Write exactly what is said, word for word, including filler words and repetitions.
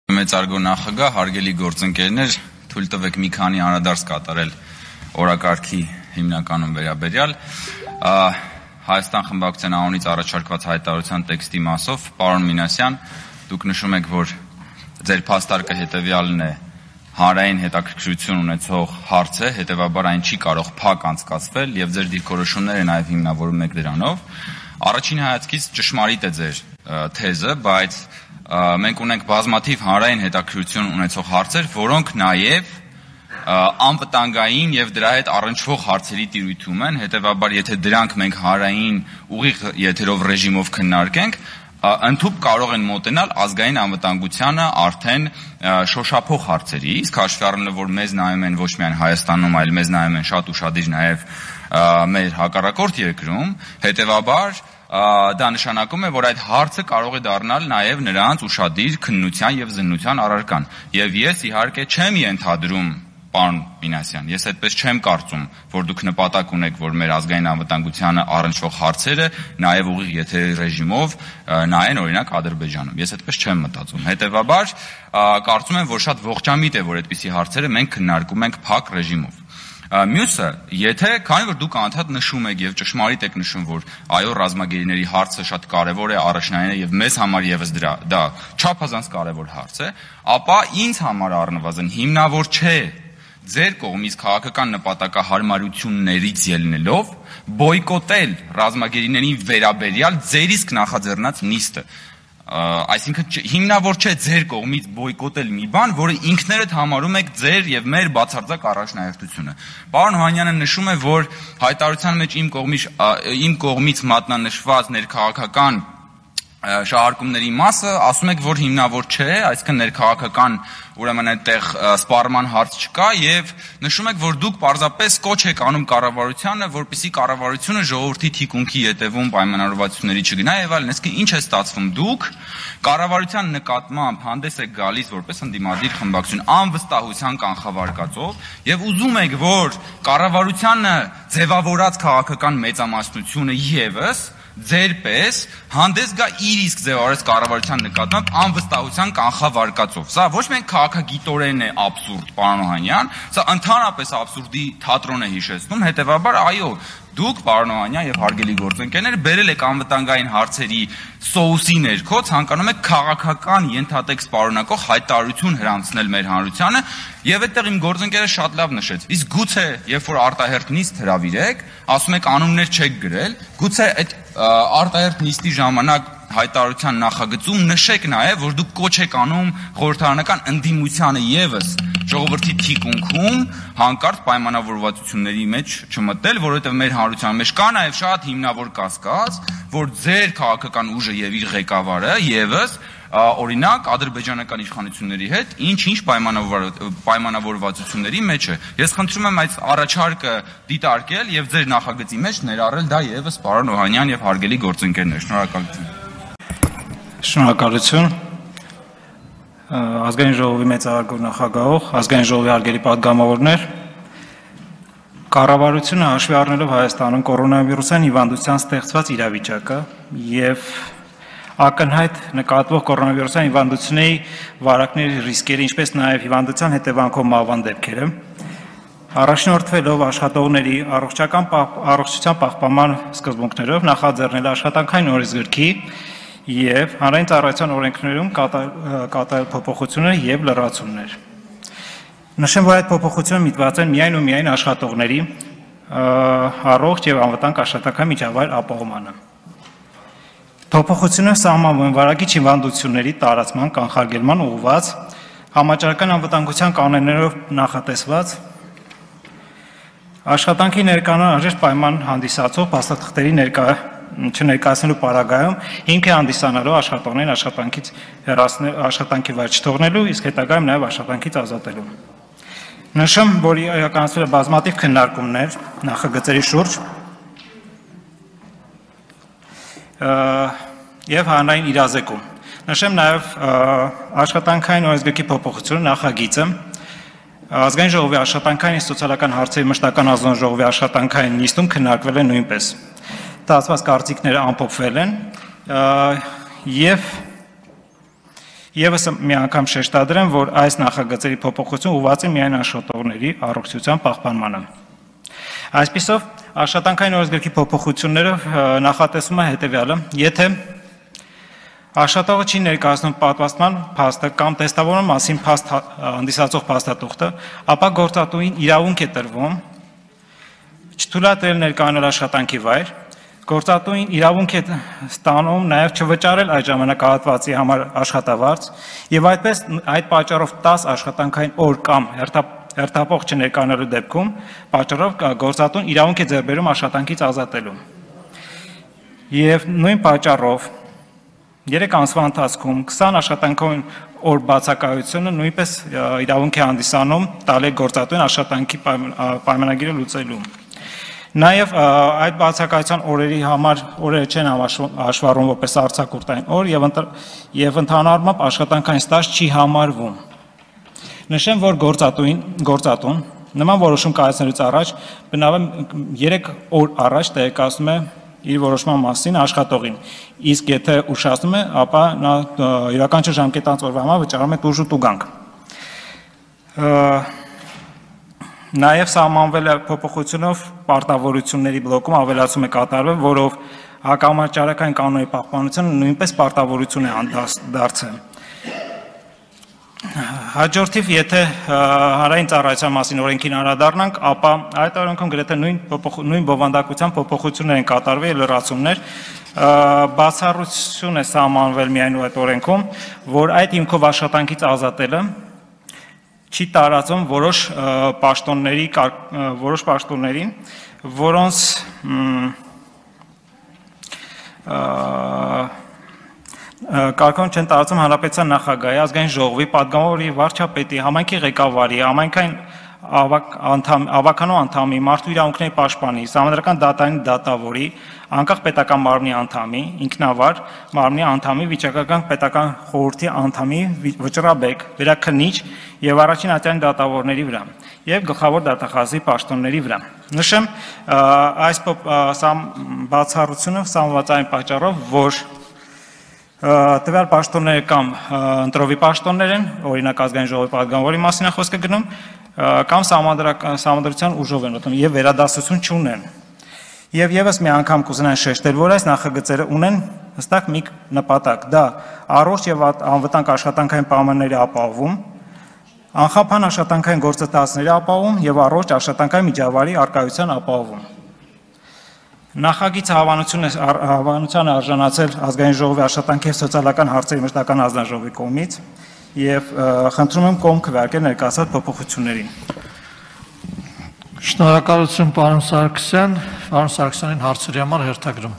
Մեծարգո նախագահ, հարգելի գործընկերներ, թույլ տվեք մի քանի անդրադարձ կատարել օրակարգի հիմնականում վերաբերյալ Հայաստան խմբակցության անունից առաջարկված հայտարարության տեքստի մասով, պարոն Մինասյան, դուք նշում եք, որ ձեր փաստարկը հետևյալն է, հանրային հետաքրքրություն ունեցող հարց է, հետևաբար այն չի կարող փակ անցկացվել եւ ձեր դիրքորոշումները նաեւ հիմնավորում եք դրանով։ Առաջին հայացքից ճշմարիտ է ձեր թեզը, բայց մենք ունենք բազմաթիվ հանրային հետաքրքրություն ունեցող հարցեր, որոնք նաև անվտանգային եւ դրա հետ առնչվող հարցերի տիրույթում են, հետեւաբար եթե դրանք մենք հանրային ուղիղ եթերով ռեժիմով քննարկենք, ընդհանուր կարող են մոտենալ ազգային անվտանգությանը արդեն շոշափող հարցերի, իսկ հաշվի առնելով, որ մեզ նայում են ոչ միայն Հայաստանում, այլ մեզ նայում են շատ ուշադիր նաև մեր հակառակորդ երկրում, հետեւաբար դա նշանակում է, որ այդ հարցը կարող է դառնալ նաև նրանց ուշադիր քննության եւ զննության առարկան։ Եվ ես իհարկե չեմ ենթադրում, պարոն Մինասյան, ես այդպես չեմ կարծում, որ դուք նպատակ ունեք, որ մեր ազգային անվտանգությանը առնչվող հարցերը նաև ուղիղ եթերի ռեժիմով նայեն օրինակ Ադրբեջանում։ Ես այդպես չեմ մտածում։ Հետևաբար կարծում եմ, որ շատ ողջամիտ է, որ այդպիսի հարցերը մենք քննարկում ենք փակ ռեժիմով։ Մյուսը, եթե քանի որ դուք անդադ նշում եք եւ ճշմարիտ եք նշում, որ այո ռազմագերիների հարցը շատ կարեւոր է, առաջնային է եւ մեզ համար եւս դրա դա չափազանց կարեւոր հարց է, ապա ինձ համար առնվազն հիմնավոր չէ ձեր կողմից քաղաքական նպատակահարմարություններից ելնելով բոյկոտել ռազմագերիների վերաբերյալ ձեր իսկ նախաձեռնած նիստը։ Այսինքն հիմնավոր չէ ձեր կողմից բոյկոտել մի բան, որը ինքներդ համարում եք ձեր եւ մեր բացարձակ առաջնահերթությունը։ Պարոն Օհանյանը նշում է, որ հայտարարության մեջ իմ կողմից իմ կողմից մատնանշված ներքաղաքական շահարկումների մասը ասում եք, որ հիմնավոր չէ, այսինքն ներքաղաքական ուրեմն այդտեղ սպառման հարց չկա եւ նշում եք, որ դուք պարզապես կոչ եք անում կառավարությանը, որպեսզի կառավարությունը ժողովրդի թիկունքի ետևում պայմանավորվածությունների չգնա եւ այլն։ Այսինքն ինչ է ստացվում, դուք կառավարության նկատմամբ հանդես եք գալիս որպես ընդդիմադիր խմբակցություն անվստահության կանխավարկածով եւ ուզում եք, որ կառավարությանը ձևավորած քաղաքական մեծամասնությունը եւս ձեր պես հանդես գա իր իսկ ձևավորած կառավարության նկատմամբ անվստահության կանխավարկածով։ Սա ոչ միայն քաղաքագիտորեն է աբսուրդ, պարոն Օհանյան, սա ընդհանրապես աբսուրդի թատրոն է հիշեցնում, հետեւաբար այո, դուք, պարոն Օհանյան եւ հարգելի գործընկերներ, բերել եք անվտանգային հարցերի սոուսի ներքո, ցանկանում եք քաղաքական ենթատեքստ պարունակող հայտարարություն հրամցնել մեր հանրությանը, եւ այդտեղ իմ գործընկերը շատ լավ նշեց։ Իսկ գուցե, երբ որ արտահերթ նիստ հրավիրեք, ասում եք անուններ չեք գրել, գուցե այդ արտահերթ նիստի ժամանակ հայտարարության նախագծում նշեք նաև, որ դուք կոչ եք անում խորհրդարանական ընդդիմությանը եւս ժողովրդի թիկունքում հանկարծ պայմանավորվածությունների մեջ չմտնել, որովհետև մեր հանրության մեջ կա նաև շատ հիմնավոր կասկած, որ ձեր քաղաքական ուժը եւ իր ղեկավարը եւս օրինակ ադրբեջանական իշխանությունների հետ ինչ-ինչ պայմանավորվածությունների մեջ է։ Ես խնդրում եմ այդ առաջարկը դիտարկել եւ ձեր նախագծի մեջ ներառել դա եւս պարոն Օհանյան եւ հարգելի գործընկերներ։ Շնորհակալություն։ Շնորհակալություն։ Ազգային ժողովի մեծարգո նախագահող, ազգային ժողովի հարգելի պատգամավորներ, կառավարությունը հաշվի առնելով Հայաստանում կորոնավիրուսային հիվանդության ստեղծված իրավիճակը եւ ակնհայտ նկատվող կորոնավիրուսային հիվանդությունների վարակների ռիսկերը, ինչպես նաև հիվանդության հետևանքով մահվան դեպքերը, առաջնորդվելով աշխատողների առողջական առողջության պահպանման սկզբունքներով նախաձեռնել աշխատանքային օրենսգրքի եւ հանրային ծառայության օրենքներում կատարել փոփոխություններ եւ լրացումներ։ Նշեմ, որ այդ փոփոխությունները միտված են միայն ու միայն աշխատողների առողջ եւ անվտանգ աշխատանքային միջավայր ապահովմանը։ Փոփոխությունը սահմանվում են վարակիչ հիվանդությունների տարածման կանխարգելման ուղղված համաճարակային անվտանգության կանոններով նախատեսված աշխատանքի ներկայացման անհրաժեշտ պայման հանդիսացող փաստաթղթերի ներկա չներկայացնելու պարագայում հիմք է հանդիսանալու աշխատողներին աշխատանքից հեռացնել աշխատանքի վայր չթողնելու, իսկ հետագայում նաև աշխատանքից ազատելու։ Նշեմ, որ իրականացվել է բազմաթիվ քննարկումներ նախագծերի շուրջ եւ հանրային իրազեկում։ Նշեմ նաև աշխատանքային օրենսգրքի փոփոխությունը նախագիծը ազգային ժողովի աշխատանքային սոցիալական հարցերի մշտական ազգային աշխատանքային նիստում քննարկվել է նույնպես։ Ստացված կարծիքները ամփոփվել են եւ Եվս մի անգամ շեշտադրեմ, որ այս նախագծերի փոփոխություն ուղղված է միայն աշխատողների առողջության պահպանմանը։ Այսպիսով, աշխատանքային օրենսգրքի փոփոխությունները նախատեսում է հետևյալը. եթե աշխատողը չի ներկայացնում պատվաստման փաստը կամ տեստավորման մասին փաստ հանդիսացող փաստաթուղթը, ապա գործատուին իրավունք է տրվում չթույլատրել ներկայանալ աշխատանքի վայր, գործատուին իրավունք է ստանում նաև չվճարել այդ ժամանակահատվածի համար աշխատավարձ եւ այդպես այդ պատճառով տասը աշխատանքային օր կամ հերթապող չներկայանալու դեպքում պատճառով գործատուն իրավունք է ձեռք բերում աշխատանքից ազատելու։ Եվ նույն պատճառով երեք ամսվա ընթացքում քսան աշխատանքային օր բացակայությունը նույնպես իրավունք է հանդիսանում տալի գործատուին աշխատանքի պայմանագիրը լուծելու։ Նաև այդ բացակայության օրերի համար օրերը չեն հաշվառվում որպես արձակուրդային օր եւ ընդհանուր առմամբ աշխատանքային ստաժ չի համարվում։ Նշեմ, որ գործատուին գործատուն նման որոշում կայացնելուց առաջ բնավ երեք օր առաջ տեղեկացնում է իր որոշման մասին աշխատողին, իսկ եթե ուշացնում է, ապա նա յուրաքանչյուր ժամկետանց օրվա համար վճարում է տուժ ու տուգանք։ Նաև սահմանվել է փոփոխությունով պարտավորությունների բլոկում ավելացում է կատարվել, որով հակամարտահրավերային կանոնի պահպանությունը նույնպես պարտավորություն է դարձել։ Հաջորդիվ, եթե հանրային ծառայության մասին օրենքին անդրադառնանք, ապա այդ օրենքում գրեթե նույն բովանդակության փոփոխություններ են կատարվել եւ լրացումներ, բացառություն է սահմանվել միայն այդ օրենքում, որ այդ հիմքով աշխատանքից ազատելը չի տարածում որոշ պաշտոնների, որոշ պաշտոնների, որոնց կարգոն չեն տարածում հանրապետության նախագահի, ազգային ժողովի, պատգամավորի, վարչապետի, համայնքի ղեկավարի, համայնքային ավականու անդամի, մարդու իրավունքների պաշտպանի, սահմանադրական դատարանի դատավորի, անկախ պետական մարմնի անդամի, ինքնավար մարմնի անդամի, վիճակական պետական խորհրդի անդամի, վճռաբեկ, վերաքննիչ եւ առաջին ատյանի դատավորների վրա եւ գլխավոր դատախազի պաշտոնների վրա։ Նշեմ, այս բացառությունը սահմանված այն պատճառով, որ տվյալ պաշտոնները կամ ընտրովի պաշտոններ են, օրինակ ազգային ժողովի պատգամավորի մասին է խոսքը գնում, կամ սահմանադրության ուժով են օգտվում եւ վերադասություն չունեն։ Եվ եւս մի անգամ կուզենան շեշտել, որ այս նախագծերը ունեն հստակ մի նպատակ, դա առողջ եւ անվտանգ աշխատանքային պայմանների ապահովում, անխափան աշխատանքային գործընթացների ապահովում եւ առողջ աշխատանքային միջավայրի առկայության ապահովում։ Նախագիծը հավանության արժանացել ազգային ժողովի աշխատանքի եւ սոցիալական հարցերի մշտական հանձնաժողովի կողմից եւ խնդրում եմ կողմ քվեարկել ներկայացված փոփոխություններին։ Շնորհակալություն պարոն Սարգսյան, պարոն Սարգսյանին հարցերի համար հերթագրում։